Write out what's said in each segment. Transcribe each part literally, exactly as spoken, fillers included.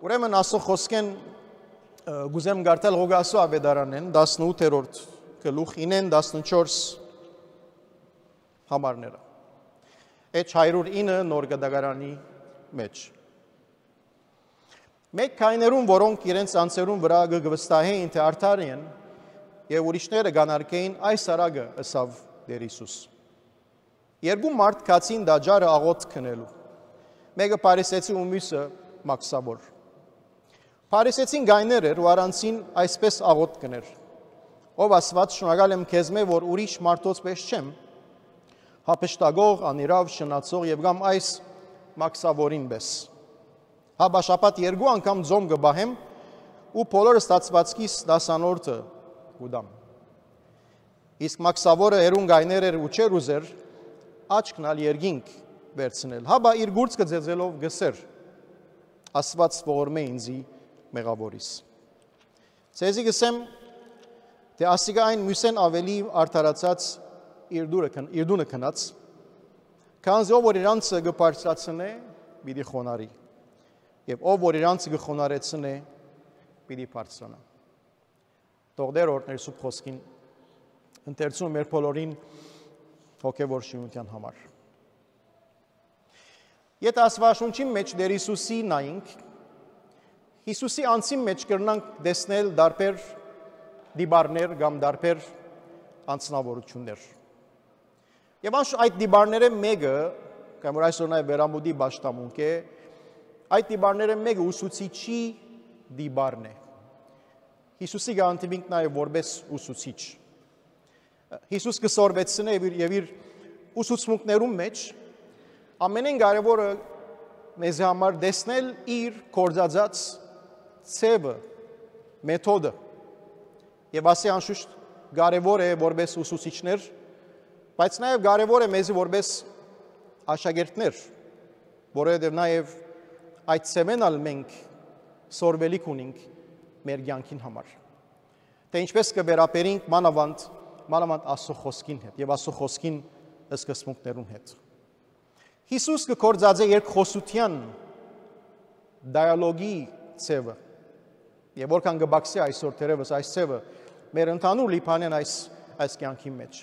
Ուրեմն, ասող խօսքէն, ը, կ'ուզեմ կարդալ Ղուկասու աւետարանէն, տասնութերորդ գլուխ, ինէն տասնչորս համարները։ Էջ հարիւր ինը Նոր Կտակարանի մէջ։ Մէկ գայներուն, որոնք իրենց անձերուն վրայ կը, կը վստահէին թէ արդար են, եւ ուրիշները կ'անարգէին, այս առակը ըսաւ Տէր Յիսուս։ Երկու մարդ գացին տաճարը աղօթք ընելու, մէկը փարիսեցի ու միւսը մաքսաւոր։ Փարիսեցին գայներ էր ու առանձին այսպէս աղօթք կ'ընէր. «Ով Աստուած, շնորհակալ եմ քեզմէ, որ ուրիշ մարդոց պէս չեմ, հափշտակող, անիրաւ, շնացող եւ կամ այս մաքսաւորին պէս։ Հապա շաբաթ երկու անգամ ծոմ կը պահեմ ու բոլոր ստացուածքիս տասանորդը կու տամ»։ Իսկ մաքսաւորը հեռուն գայներ էր ու չէր ուզեր աչքն ալ երկինք վերցնել, հապա իր գուրծքը ծեծելով կ'ըսէր. «Աստուած ողորմէ ինծի, մեղաւորիս»։ Ձեզի կ'ըսեմ թէ ասիկա այն միւսէն աւելի արդարացած իր դուրը քն-, իր տունը քնած, քանզի ով որ իր անձը կը բարձրացնէ, պիտի խոնարհի, եւ ով որ իր անձը կը խոնարհեցնէ, պիտի բարձրանայ։ Թող Տէր օրհնէր սուրբ խօսքին ընթերցումը մեր բոլորին հոգեւոր շինութեան համար։ Եթէ Աստուածաշունչին մէջ Տէր Յիսուսի նայենք, Յիսուսի անձին մէջ կրնանք տեսնել տարբեր տիպարներ կամ տարբեր անձնաւորութիւններ։ Եւ անշ-, այդ տիպարներէն մէկը, կամ որ այսօր նաեւ վերամուտի պաշտամունք է, այդ տիպարներէն մէկը ուսուցիչի տիպարն է։ Յիսուսի կը հանդիպինք նաեւ որպէս ուսուցիչ։ Յիսուս կը սորվեցնէ եւ իր, եւ իր ուսուցմունքներուն մէջ ամենէն կարեւորը մեզի համար տեսնել իր գործածած ձեւը, մեթոդը։ Եւ ասի անշուշտ կարեւոր է որպէս ուսուցիչներ, բայց նաեւ կարեւոր է մեզի որպէս աշակերտներ, որովհետեւ նաեւ այդ ձեւէն ալ մենք սորվելիք ունենք մեր կեանքին համար, թէ ինչպէս կը վերաբերենք մանաւանդ, մանաւանդ Աստուծոյ խօսքին հետ եւ Աստուծոյ խօսքին սկզբունքներուն հետ։ Յիսուս կը գործածէ երկխօսութեան դիալոգի ձեւը, եւ որքան կը բացի այսօր թերեւս այս ձեւը մեր ընդհանուր Լիբանան այս, այս կեանքին մէջ։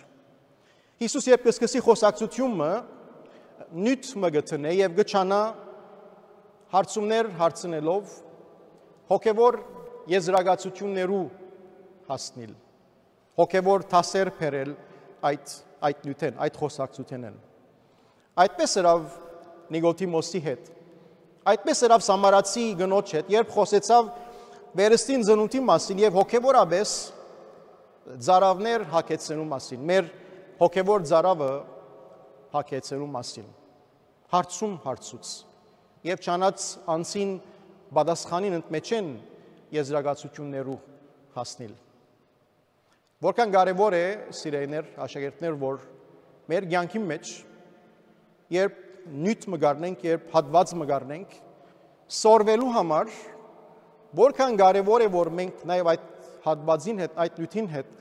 Յիսուս երբ կը սկսի խօսակցութիւնը, նիւթ մը կը դնէ եւ կը ջանայ հարցումներ հարցնելով հոգեւոր եզրակացութիւններու հասնիլ, հոգեւոր դասեր բերել այդ, այդ նիւթէն, այդ խօսակցութենէն։ Այդպէս ըրաւ Նիկոդիմոսի հետ, այդպէս ըրաւ Սամարացի կնոջ հետ, երբ խօսեցաւ վերստին ծնունդի մասին եւ հոգեւորապէս ծարաւներ հագեցնելու մասին, մեր հոգեւոր ծարաւը հագեցնելու մասին, հարցում հարցուց եւ ջանաց անձին պատասխանին ընդմէջէն եզրակացութիւններու հասնիլ։ Որքան կարեւոր է, սիրելիներ, աշակերտներ, որ մեր կեանքին մէջ, երբ նիւթ մը կ'առնենք, երբ հատուած մը կ'առնենք, սորվելու համար, որքան կարեւոր է, որ մենք նաեւ այդ հատուածին հետ, այդ նիւթին հետ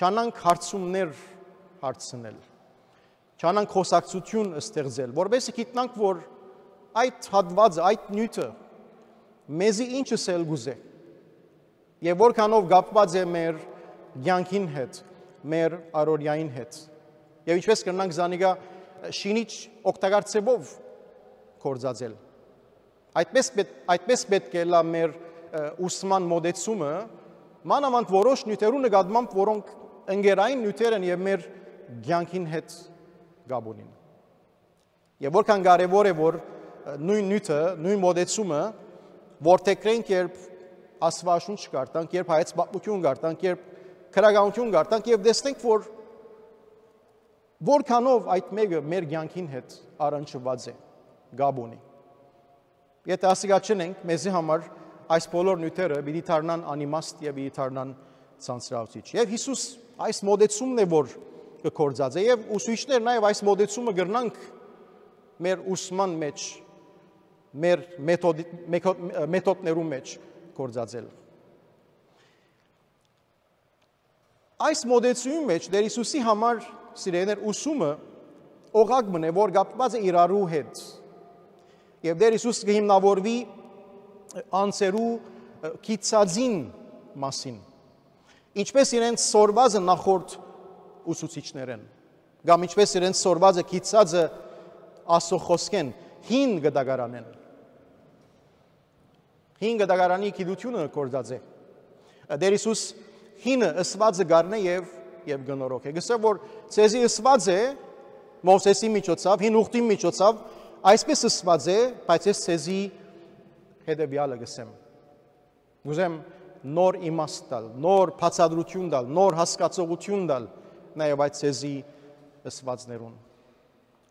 ջանանք հարցումներ հարցնել, ջանանք խօսակցութիւն ստեղծել, որպեսզի գիտնանք, որ այդ հատուածը, այդ նիւթը մեզի ինչ ըսել կ'ուզէ եւ որքանով կապուած է մեր կեանքին հետ, մեր առօրեային հետ, եւ ինչպէս կրնանք զանիկա շինիչ օգտակար ձեւով գործածել։ Այդպես պետ-, այդպես պէտք է ըլլայ մեր, ը, ուսման մոտեցումը, մանաւանդ որոշ նիւթերու նկատմամբ, որոնք ընկերային նիւթեր են եւ մեր կեանքին հետ կապ ունին։ Եւ որքան կարեւոր է, որ, ը, նոյն նիւթը, նոյն մոտեցումը որդեգրենք, երբ Աստուածաշունչ կարդանք, երբ հայոց պատմութիւն կարդանք, երբ քրագանութիւն կարդանք եւ տեսնենք, որ որքանով այդ մէկը մեր կեանքին հետ առնչուած է, կապ ունի։ Եթէ ասիկա չընենք, մեզի համար այս բոլոր նիւթերը պիտի դառնան անիմաստ եւ պիտի դառնան ցանցրաւցիչ։ Եւ Յիսուս այս մոտեցումն է, որ կը գործածէ, եւ ուսուցիչներ նաեւ այս մոտեցումը կրնանք մեր ուսման մէջ, մեր մեթոդի-, մեքո-, մեթոդներու մէջ գործածել։ Այս մոտեցումի մէջ Տեր Յիսուսի համար, սիրելիներ, ուսումը օղակ մը է, որ կապուած է իրարու հետ։ Եւ Տեր Յիսուս կը հիմնավորուի անձերու գիտցածին մասին, ինչպես իրենց սորվածը նախորդ ուսուցիչներէն, կամ ինչպես իրենց սորվածը գիտցածը Աստուծոյ խօսքէն հին գտակարանեն։ Հին գտակարանի գիտությունը գործած է։ Տէր Յիսուս հինը ըսուածը գարնէ եւ, եւ կը նորոգէ։ Գսե որ ձեզի ըսուած է Մովսէսի միջոցով, հին ուխտի միջոցով, այսպես ըսուած է, բայց ես ձեզի հետեւեալը գսեմ։ Կ'ուզեմ նոր իմաստ տալ, նոր բացատրություն տալ, նոր հասկացողություն տալ, նաեւ այդ ձեզի ըսուածներուն։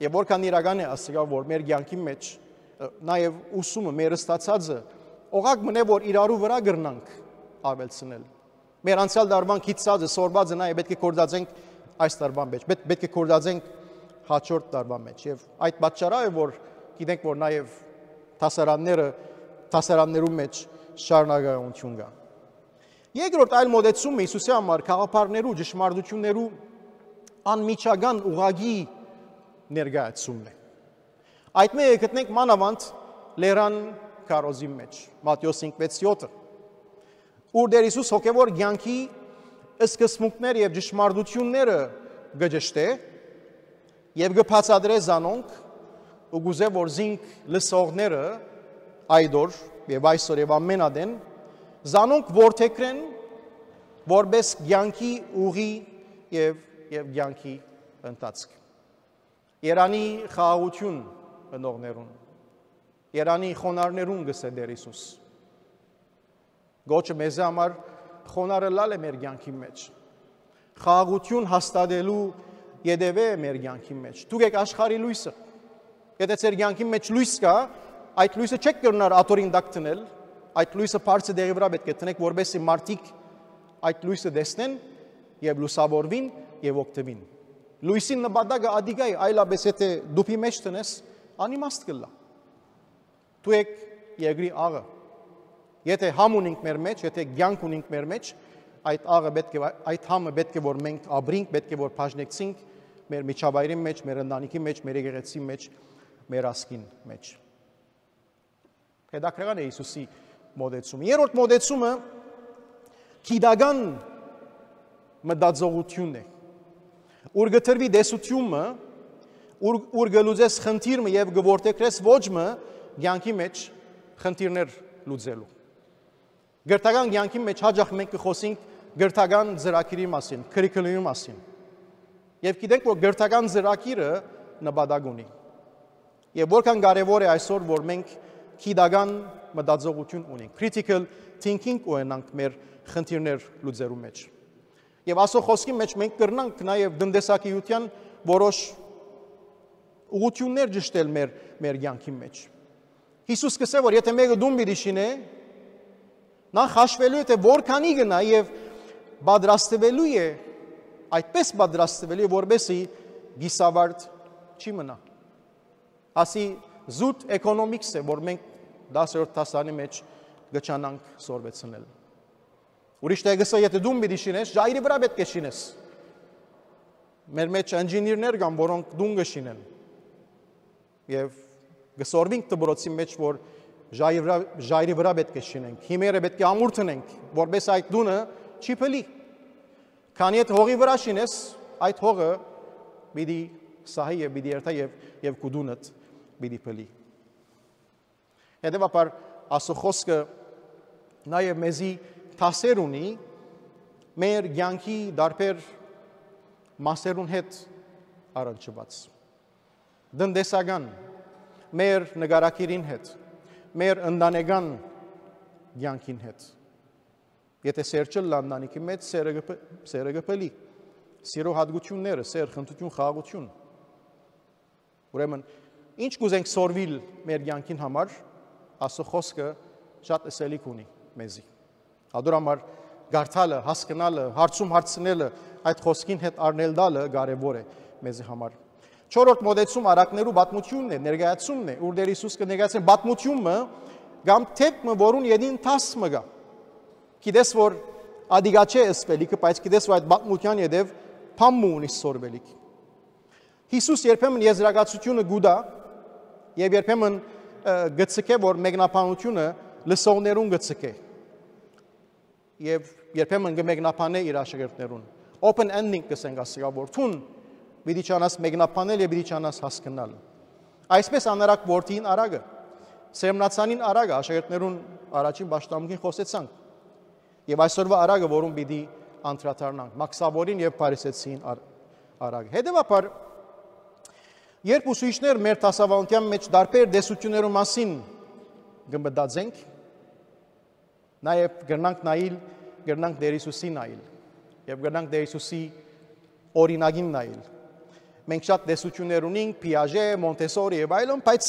Եւ որքան իրական է ասիկա, որ մեր կեանքի մեջ, ը, նաեւ ուսումը, մեր ստացածը, օղակ մնե, որ իրարու վրայ կրնանք աւելցնել։ Մեր անցեալ տարուան գիտցածը, սորվածը նաեւ պէտք է գործածենք այս տարուան մեջ, պէտ-, պէտք է գործածենք հաջորդ տարուան մեջ։ Եւ այդ պատճառը է, որ գիտենք, որ նաեւ դասարանները, դասարաններու մեջ շարունակականություն կայ։ Երկրորդ այլ մոտեցումը Յիսուսի համար գաղափարներու, ճշմարտություններու անմիջական ուղղակի ներկայացումն է։ Այդ մէկը գտնենք մանաւանդ լերան քարոզին մեջ, Մատթէոս հինգ վեց յոթը, ուր Տէր Յիսուս հոգեւոր կեանքի սկզբունքները եւ ճշմարտությունները կը ճշտէ եւ կը բացատրէ զանոնք ու կ'ուզէ, որ զինք լսողները այդ օր եւ այսօր եւ ամէն ատեն զանոնք որդեգրեն որպէս կեանքի ուղի եւ, եւ կեանքի ընթացք։ Երանի խաղաղություն ընողներուն, երանի խոնարհներուն, գսէ Տէր Յիսուս։ Գոչը մեզի համար խոնարհ ըլլալ է մեր կեանքի մեջ։ Խաղաղություն հաստատելու ետեւը է մեր կեանքի մեջ։ Դուք էք աշխարհի լոյսը։ Եթէ ձեր կեանքի մեջ լոյս կայ, այդ լոյսը չէք կրնար աթոռին տակ դնել, այդ լոյսը բարձր տեղի վրայ պէտք է դնեք, որպեսզի մարդիկ այդ լոյսը տեսնեն եւ լուսաւորուին եւ օգտուին։ Լոյսին նպատակը ատիկա է, այլապես եթէ դուփի մեջ դնես, անիմաստ կ'ըլլայ։ Դուք էք երկրի աղը։ Եթէ համ ունենք մեր մեջ, եթէ կեանք ունենք մեր մեջ, այդ աղը պէտք է, այդ համը պէտք է որ մենք ապրենք, պէտք է որ բաժնեկցենք մեր միջավայրին մեջ, մեր ընտանիքի մեջ, մեր եկեղեցի մեջ, մեր ազգին մեջ։ Հետաքրքրական է Յիսուսի մոտեցումը։ Երրորդ մոտեցումը գիտական մտածողությունն է, ուր կը տրուի տեսությունը, ուր, ուր կը լուծես խնդիր մը եւ կը որդեգրես ոչ մը կեանքի մեջ խնդիրներ լուծելու։ Կրթական կեանքի մեջ հաճախ մենք կը խօսենք կրթական ծրագիրի մասին, curriculum-ի մասին։ Եւ գիտենք, որ կրթական ծրագիրը նպատակ ունի։ Եւ որքան կարեւոր է այսօր, որ մենք գիտական մտածողություն ունենք, critical thinking ունենանք մեր խնդիրներ լուծելու մեջ։ Եւ Աստուծոյ խօսքի մեջ մենք կրնանք նաեւ տնտեսագիտության որոշ ուղղություններ ճշտել մեր, մեր կեանքի մեջ։ Յիսուս կ'ըսէ, որ եթէ մէկը տուն պիտի շինէ, նախ հաշուելու է, թէ որքանի գնայ եւ պատրաստվելու է, այդպես պատրաստվելու է, որպեսզի կիսավարտ չի մնայ։ Ասի զուտ էկոնոմիքս է, որ մենք տասերորդ դասարանի մեջ կը ջանանք սորվեցնել։ Ուրիշ տեղ կ'ըսէ, եթէ տուն պիտի շինես, ժայռի վրայ պէտք է շինես։ Մեր մեջ ընժինիրներ կան, որոնք տուն կը շինեն։ Եւ կը սորվինք դպրոցի մեջ, որ ժայռի վրայ, ժայռի վրայ պէտք է շինենք, հիմերը պէտք է ամուր դնենք, որպէս այդ տունը չի փլի։ Քանի հետ հողի վրայ շինես, այդ հողը պիտի սահի եւ պիտի երթայ եւ, եւ քու տունդ պիտի փլի։ Հետեւաբար, Աստուծոյ խօսքը նաեւ մեզի դասեր ունի մեր կեանքի տարբեր մասերուն հետ առնչուած, տնտեսական, մեր նկարագիրին հետ, մեր ընտանեկան կեանքին հետ։ Եթէ սեր չըլլայ ընտանիքի մեջ, սերը կը փ-, սերը կը փլի։ Սիրո յատկությունները, սեր, խնդրություն, խաղաղություն։ Ուրեմն, ինչ կ'ուզենք սորվիլ մեր կեանքին համար, Աստուծոյ խօսքը շատ ըսելիք ունի մեզի։ Ադոր համար կարդալը, հասկնալը, հարցում հարցնելը, այդ խօսքին հետ առնել տալը կարեւոր է մեզի համար։ Չորրորդ մոտեցում առակներու պատմությունն է, ներկայացումն է, ուր Տէր Յիսուս կը ներկայացնէ պատմությունը կամ դեպքը, որուն ետին դաս մը կայ։ Գիտես, որ ադիգա չէ ըսպելիքը, բայց գիտես, որ այդ պատմության ետեւ բան մը ունի սորվելիք։ Յիսուս երբեմն եզրակացությունը կու տայ եւ երբեմն, ը, կը ցկէ, որ մեկնաբանությունը լսողներուն կը ցկէ եւ երբեմն կը մեկնաբանէ իր աշակերտներուն։ Open ending կ'ըսենք ասիկա, որ դուն պիտի չանաս մեկնաբանել եւ պիտի չանաս հասկնալ։ Այսպէս անարակ որդին արագը, սերմնացանին արագը, աշակերտներուն առաջին պաշտամունքին խօսեցանք, եւ այսօրվա արագը, որուն պիտի անդրադառնանք, մաքսաւորին եւ փարիսեցին ար-, արագը։ Հետեւաբար, երբ ուսուցիչներ մեր դասաւանդութեան մէջ տարբեր տեսություններու մասին կը մտածենք, նաեւ կրնանք նայիլ, կրնանք Տեր Յիսուսի նայիլ եւ կրնանք Տեր Յիսուսի օրինակին նայիլ։ Մենք շատ տեսություններ ունենք, Պիաժէ, Մոնտեսորի եւ այլն, բայց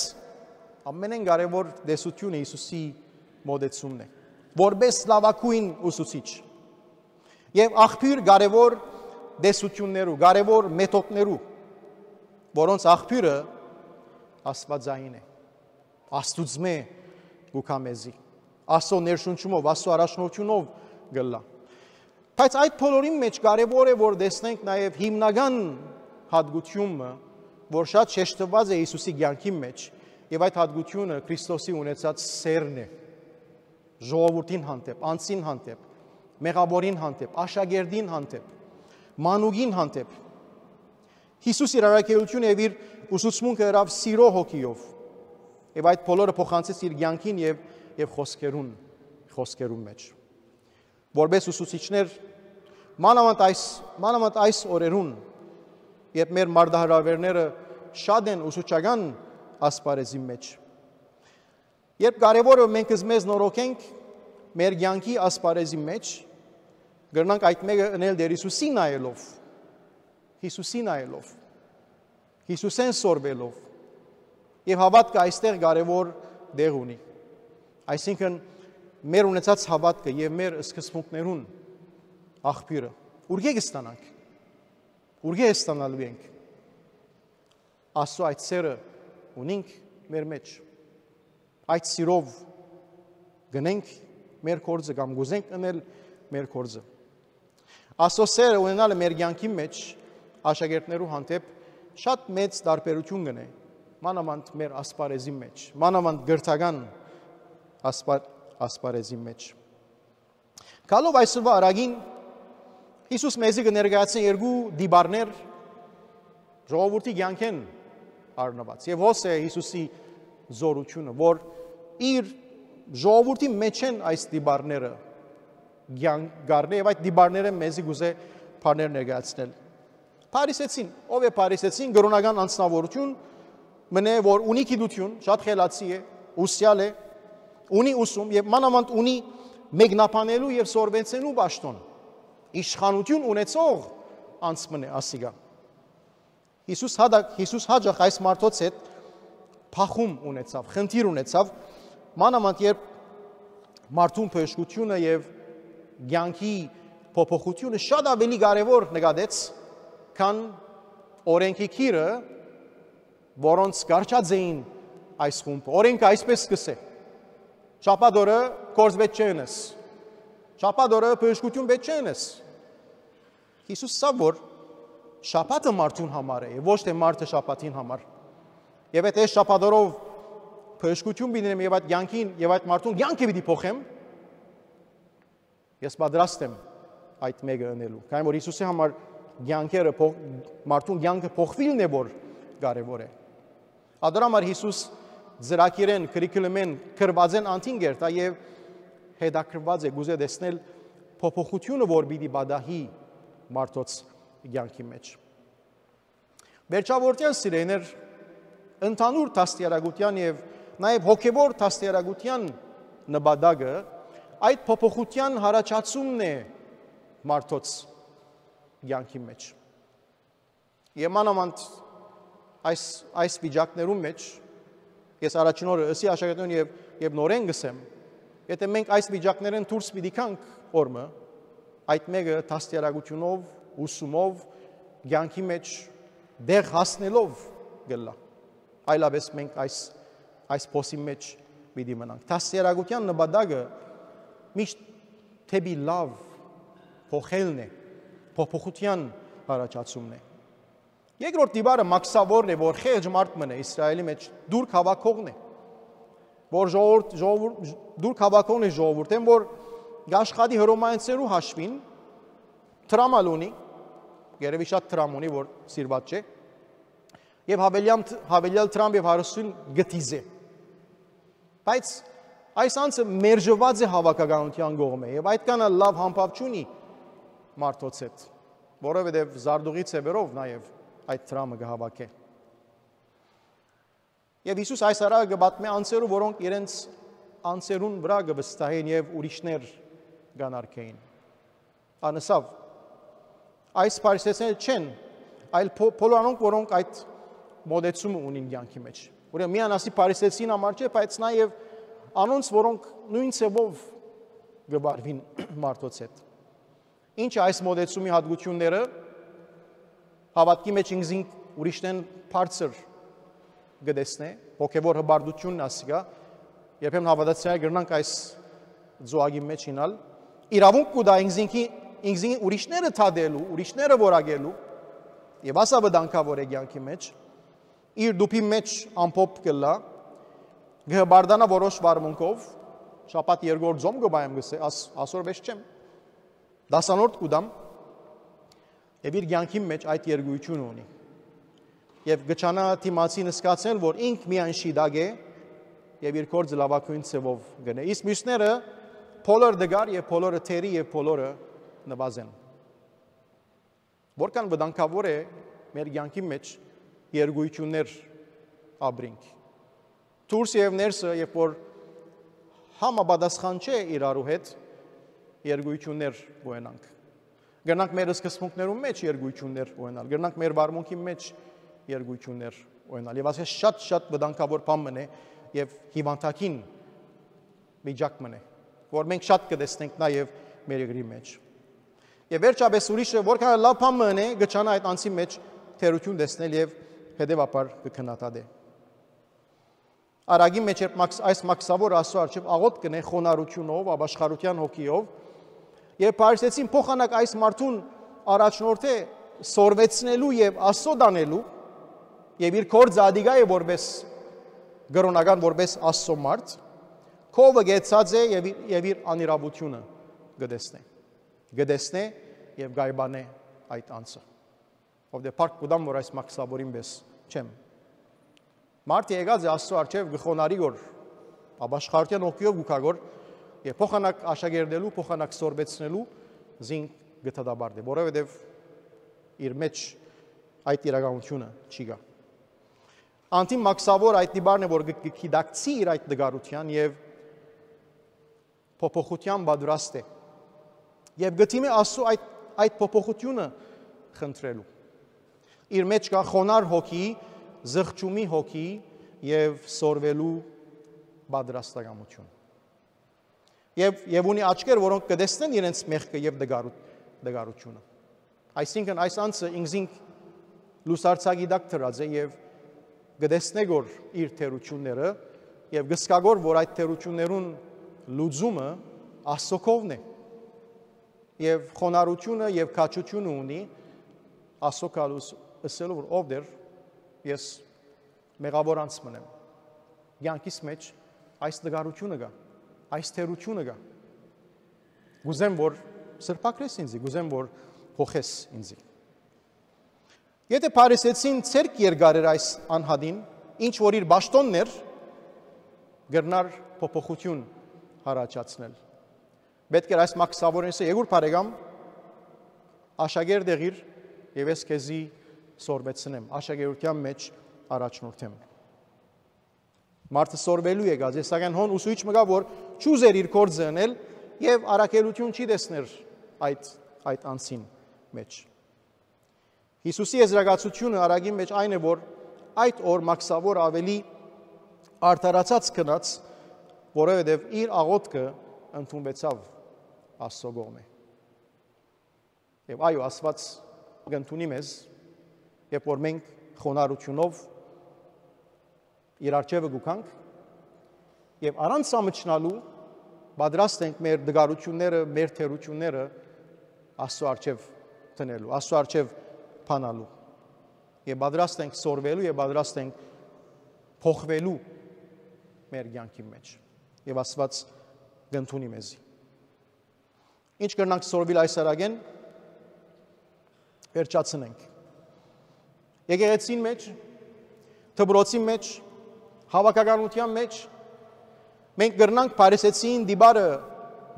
ամենէն կարեւոր տեսությունը Յիսուսի մոտեցումն է, որպես լաւագոյն ուսուցիչ եւ աղբիւր կարեւոր տեսություններու, կարեւոր մեթոդներու, որոնց աղբիւրը Աստուածային է, Աստուծմէ կու գայ մեզի, Աստուծոյ ներշնչումով, Աստուծոյ առաջնորդութիւնով կ'ըլլայ։ Բայց այդ բոլորին մէջ կարեւոր է, որ տեսնենք նաեւ հիմնական հատկությունը, որ շատ շեշտուած է Յիսուսի կեանքին մէջ, եւ այդ հատկությունը Քրիստոսի ունեցած սէրն է, ժողովուրդին հանդէպ, անձին հանդէպ, մեղաւորին հանդէպ, աշակերտին հանդէպ, մանուկին հանդէպ։ Յիսուս իր առաքելութիւնը եւ իր ուսուցմունքը ըրաւ սիրո հոգիով, եւ այդ բոլորը փոխանցեց իր կեանքին եւ, եւ խօսքերուն, խօսքերուն մէջ։ Որպես ուսուցիչներ, մանաւանդ այս, մանաւանդ այս օրերուն, երբ մեր մարտահրաւէրները շատ են ուսուցչական ասպարեզին մէջ, երբ կարեւորը մենք մեզ նորոգենք մեր կեանքի ասպարեզի մէջ, կրնանք այդ մէկը ընել Տեր Յիսուսի նայելով, Յիսուսի նայելով, Յիսուսէն սորվելով, եւ հաւատքը այստեղ կարեւոր տեղ ունի։ Այսինքն, մեր ունեցած հաւատքը եւ մեր սկզբունքներուն աղբիւրը ուրկէ՞ կը ստանանք, ուրկէ՞ ստանալու ենք։ Աստուծոյ այդ սէրը ունինք մեր մէջ, այդ սիրով գնենք մեր գործը կամ կ'ուզենք ընել մեր գործը։ Աստուծոյ սէրը ունենալը մեր կեանքին մէջ աշակերտներու հանդէպ շատ մեծ տարբերութիւն կ'ընէ, մանաւանդ մեր ասպարեզին մէջ, մանաւանդ կրթական ասպար-, ասպարեզին մէջ։ Գալով այսօրվա արագին, Յիսուս մեզի կը ներկայացնէ երկու տիպարներ ժողովուրդի կեանքէն առնուած։ Եւ հոս է Յիսուսի զօրութիւնը, որ իր ժողովուրդի մէջէն այս տիպարները կեանք կ'առնէ եւ այդ տիպարներէն մեզի կ'ուզէ բաներ ներկայացնել։ Փարիսեցին, ո՞վ է Փարիսեցին, կրօնական անձնաւորութիւն մնայ, որ ունի գիտութիւն, շատ խելացի է, ուսեալ է, ունի ուսում եւ մանաւանդ ունի մեկնաբանելու եւ սորվեցնելու պաշտօն, իշխանութիւն ունեցող անձ մնայ ասիկա։ Յիսուս հատակ, Յիսուս հաճախ այս մարդոց հետ փախում ունեցաւ, խնդիր ունեցաւ, մանաւանդ երբ մարդուն բժշկութիւնը եւ կեանքի փոփոխութիւնը շատ աւելի կարեւոր նկատեց, քան օրենքի գիրը, որոնց կառչած էին այս խումբը։ Օրենքը այսպես կ'ըսէ. «Շաբաթ օրը գործ պէտք չէ ընես։ Շաբաթ օրը բժշկութիւն պէտք չէ ընես»։ Յիսուս ասաւ, որ շաբաթը մարդուն համար է, ոչ թէ մարդը շաբաթին համար։ Եթէ ես շաբաթ օրով բժշկութիւն պիտի ընեմ եւ այդ կեանքին, եւ այդ մարդուն կեանքը պիտի փոխեմ, ես պատրաստ եմ այդ մէկը ընելու։ Քանի որ Յիսուսի համար կեանքերը փոխ-, մարդուն կեանքը փոխուիլն է, որ կարեւոր է։ Ատոր համար Յիսուս ծրագիրէն, քրիքիլումէն, գրուածէն անդին կ'երթայ եւ հետաքրքրուած է, կ'ուզէ տեսնել փոփոխութիւնը, որ պիտի պատահի մարդոց կեանքի մէջ։ Վերջավորութեան, սիրելիներ, ընդհանուր դաստիարակութեան եւ նաեւ հոգեւոր դաստիարակութեան նպատակը այդ փոփոխութեան յառաջացումն է մարդոց կեանքի մէջ։ Եւ մանաւանդ այս, այս վիճակներուն մէջ, ես առաջին օրը ըսի աշակերտներուն եւ, եւ նորէն կ'ըսեմ, եթէ մենք այս վիճակներէն դուրս պիտի գանք օրը, այդ մէկը դաստիարակութիւնով, ուսումով, կեանքի մէջ դեղ հասնելով կ'ըլլայ։ Այլապէս մենք այս, այս փոսին մէջ պիտի մնանք։ Դաստիարակութեան նպատակը միշտ դէպի լաւ փոխելն է, փոփոխութեան յառաջացումն է։ Երկրորդ տիպարը մաքսաւորն է, որ խեղճ մարդ մնայ Իսրայէլի մէջ, դուռ հաւաքողն է։ որ ժողովուրդ, ժողովուրդ, դուր կհաւաքուին ժողովուրդէն, որ կաշխատի հռոմեացիներու հաշուին, դրամ ալ ունի, երեւի շատ դրամ ունի, որ սիրուած չէ, եւ յաւելեալ, յաւելեալ դրամ եւ հարստութիւն կը դիզէ։ Բայց այս անձը մերժուած է հաւաքականութեան կողմէ, եւ այդքան ալ լաւ համբաւ չունի մարդոց հետ, որովհետեւ զարտուղի ձեւերով նաեւ այդ դրամը կը հաւաքէ։ Եւ Յիսուս այս առակը կը պատմէ անձերու, որոնք իրենց անձերուն վրայ կը վստահեն եւ ուրիշներ կ'անարգէին։ Ան ըսաւ. «Այս փարիսեցիները չեն, այլ փո-, բոլոր անոնք, որոնք այդ մոտեցումը ունին կեանքի մեջ»։ Ուրեմն միայն ասի փարիսեցին համար չէ, բայց նաեւ անոնց, որոնք նոյն ձեւով կը վարուին մարդոց հետ։ Ինչ է այս մոտեցումի յատկութիւնները։ Հաւատքի մեջ ինքզինք ուրիշներէն բարձր կը տեսնէ, հոգեւոր հպարտութիւնն ասիկա, երբեմն հաւատացյալ կրնանք այս ծուակի մեջ ինալ, իրաւունք կու տայ ինքզինքի, ինքզին ուրիշները թատելու, ուրիշները որակելու, եւ ասա վտանգաւոր է կեանքի մեջ, իր դուփի մեջ ամփոփ կ'ըլլայ, կը հպարտանայ որոշ վարմունքով, շաբաթ երկրորդ ծոմ կը պահեմ, կ'ըսէ, աս-, ասոր վեշ չեմ, դասանորդ կու տամ, եւ իր կեանքին մեջ այդ երգոյութիւնը ունի։ Եւ կը չանայ դիմացին զգացնել, որ ինք միայն շիտակ է եւ իր գործը լաւագոյն ձեւով կ'ընէ։ Իսկ միւսները բոլոր տկար եւ բոլորը թերի եւ բոլորը նուազ են։ Որքան վտանգաւոր է մեր կեանքին մեջ երգոյութիւններ ապրինք։ Դուրսը եւ ներսը, երբ որ համապատասխան չէ իրարու հետ, երգոյթիւններ ունենանք։ Կրնանք մեր սկզբունքներուն մեջ երգոյթիւններ ունենալ, կրնանք մեր վարմունքի մեջ երգոյթիւններ ունենալ։ Եւ ասես շատ, շատ վտանգաւոր բան մնե եւ հիվանդագին վիճակ մնե, որ մենք շատ կը տեսնենք նաեւ մեր երկրի մեջ։ Եւ վերջապէս ուրիշը, որքան լաւ բան մնե, կը չանա այդ անձի մեջ թերություն տեսնել եւ հետեւաբար կը քննադատէ։ Արագի մեջ երբ մաքս-, այս մաքսաւորը Աստուծոյ առջեւ աղօթք կ'ընէ խոնարհութիւնով, ապաշխարութեան հոգիով, եւ փարիսեցին փոխանակ այս մարդուն առաջնորդէ սորվեցնելու եւ Աստծո տանելու, եւ իր գործը ադիգա է որպես կրօնական, որպես Աստծո մարդ, քովը կեցած է եւ իր, եւ իր անիրաւութիւնը կը տեսնէ, կը տեսնէ եւ կ'այբանէ այդ անձը։ Ովդէ փառք կու տամ, որ այս մաքսաւորին պէս չեմ։ Մարդը եկած է Աստծո առջեւ, կը խոնարհի գոր, ապաշխարութեան հոգիով կու գայ գոր, եւ փոխանակ աշակերտելու, փոխանակ սորվեցնելու զինք կը դատապարտէ, որովհետեւ իր մեջ այդ իրականութիւնը չի գայ։ Անդին մաքսաւոր այդ դիպարն է, որ կը, կը գիտակցի իր այդ տկարութեան եւ փոփոխութեան պատրաստ է։ Եւ կը դիմի Աստծո այդ, այդ փոփոխութիւնը խնդրելու։ Իր մեջ կայ խոնարհ հոգի, զղջումի հոգի եւ սորվելու պատրաստակամութիւն։ Եւ, եւ ունի աչքեր, որոնք կը տեսնեն իրենց մեղքը եւ տկարու-, տկարութիւնը։ Այսինքն այս անձը ինքզինք լուսարձակի տակ դրած է եւ կը տեսնէ գոր իր թերությունները եւ կը զգայ գոր, որ այդ թերություններուն լուծումը Աստծո քովն է։ Եւ խոնարհութիւնը եւ քաջութիւնը ունի Աստծո գալուս ըսելու, որ ով դեր, ես մեղաւոր անձ մըն եմ։ Կեանքիս մեջ այս տկարութիւնը կայ, այս թերությունը կայ։ Կ'ուզեմ, որ սրբագրես ինձի, կ'ուզեմ, որ փոխես ինձի։ Եթէ փարիսեցին ձեռք երկարեր այս անհատին, ինչ որ իր պաշտօնն էր, կրնար փոփոխութիւն յառաջացնել։ Պէտք էր այս մաքսաւորին ասել. «Եկուր, բարեկամ, աշակերտ եղիր եւ ես քեզի սորվեցնեմ, աշակերտութեան մեջ առաջնորդեմ»։ Մարդը սորվելու եկած է, սակայն հոն ուսուցիչ մը կայ, որ չուզեր իր գործը ընել եւ առաքելութիւն չի տեսներ այդ, այդ անձին մեջ։ Յիսուսի եզրակացութիւնը արագին մեջ այն է, որ այդ օր մաքսաւոր ավելի արդարացած գնաց, որովհետեւ իր աղօթքը ընդունուեցաւ Աստծո կողմէ։ Եւ այո, Աստուած կ'ընդունի մեզ, երբ որ մենք խոնարհութիւնով իր առջեւը կու գանք եւ առանց ամչնալու պատրաստ ենք մեր տկարութիւնները, մեր թերությունները Աստծո առջեւ դնելու, Աստծո առջեւ բանալու։ Եւ պատրաստ ենք սորվելու եւ պատրաստ ենք փոխվելու մեր կեանքին մէջ։ Եւ Աստուած կ'ընդունի մեզի։ Ինչ կրնանք սորվիլ այս արագէն, վերջացնենք։ Եկեղեցին մէջ, դպրոցին մէջ, հաւաքականութեան մէջ, մենք կրնանք Փարիսեցիին դիպարը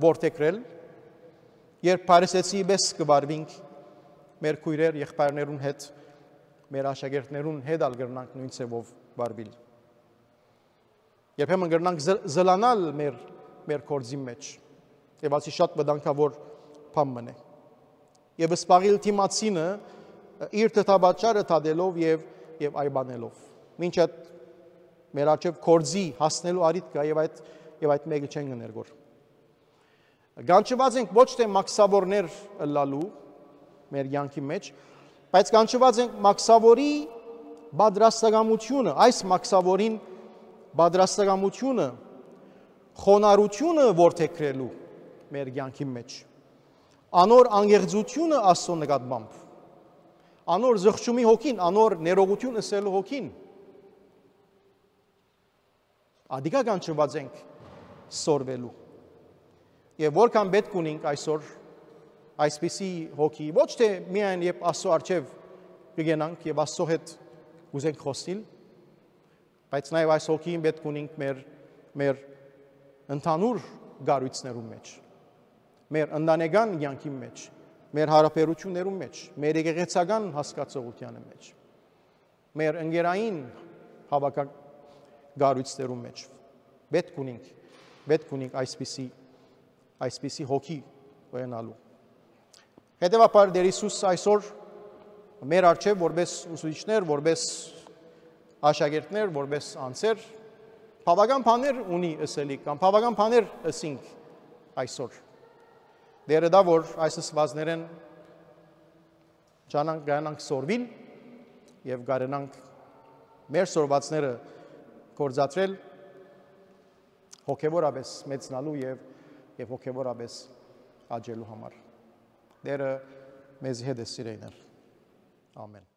որդեգրել, երբ Փարիսեցիի պէս կը վարուինք մեր քոյրեր, եղբայրներուն հետ, մեր աշակերտներուն հետ ալ կրնանք նոյն ձեւով վարուիլ։ Երբեմն կրնանք զլ-, զլանալ մեր, մեր գործին մէջ։ Եւ ասի շատ վտանգաւոր բան մըն է։ Եւ սպաղիլ դիմացինը իր թթապաճառը դատելով եւ, եւ այ բանելով։ Մինչ այդ մեր արջեւ գործի հասնելու առիթ կայ եւ այդ, եւ այդ մէկը չեն կը ներգոր։ Կանչուած ենք ոչ թէ մաքսաւորներ ըլլալու մեր կեանքի մէջ, բայց կանչուած ենք մաքսաւորի պատրաստակամութիւնը, այս մաքսաւորին պատրաստակամութիւնը, խոնարհութիւնը որդեգրելու մեր կեանքի մէջ, անոր անկեղծութիւնը Աստծո նկատմամբ, անոր զղջումի հոգին, անոր ներողութիւն ըսելու հոգին։ Ադիկա կանչուած ենք սորվելու։ Եւ որքան պէտք ունինք այսօր այսպիսի հոգի, ոչ թէ միայն երբ Աստծո առջեւ կգենանք եւ Աստծո հետ կ'ուզենք խօսիլ, բայց նաեւ այս հոգին պէտք ունինք մեր, մեր ընդհանուր կառոյցներուն մէջ, մեր ընտանեկան կեանքին մէջ, մեր յարաբերութիւններուն մէջ, մեր եկեղեցական հասկացողութեանը մէջ, մեր ընկերային հաւաքակառոյցներուն մէջ։ Պէտք ունինք, պէտք ունինք այսպիսի, այսպիսի հոգի ունենալու։ Հետեւաբար Տեր Յիսուս այսօր մեր առջեւ որպէս ուսուցիչներ, որպէս աշակերտներ, որպէս անձեր, բաւական բաներ ունի ըսելիք կամ բաւական բաներ ըսինք այսօր։ Տերը տայ որ այս ըսուածներէն ճանանք, գանանք սորվիլ եւ կարենանք մեր սորվածները գործադրել հոգեւորապէս մեծնալու եւ, եւ հոգեւորապէս աճելու համար։ Տերը մեզի հետ է, սիրելիներ։ Ամեն։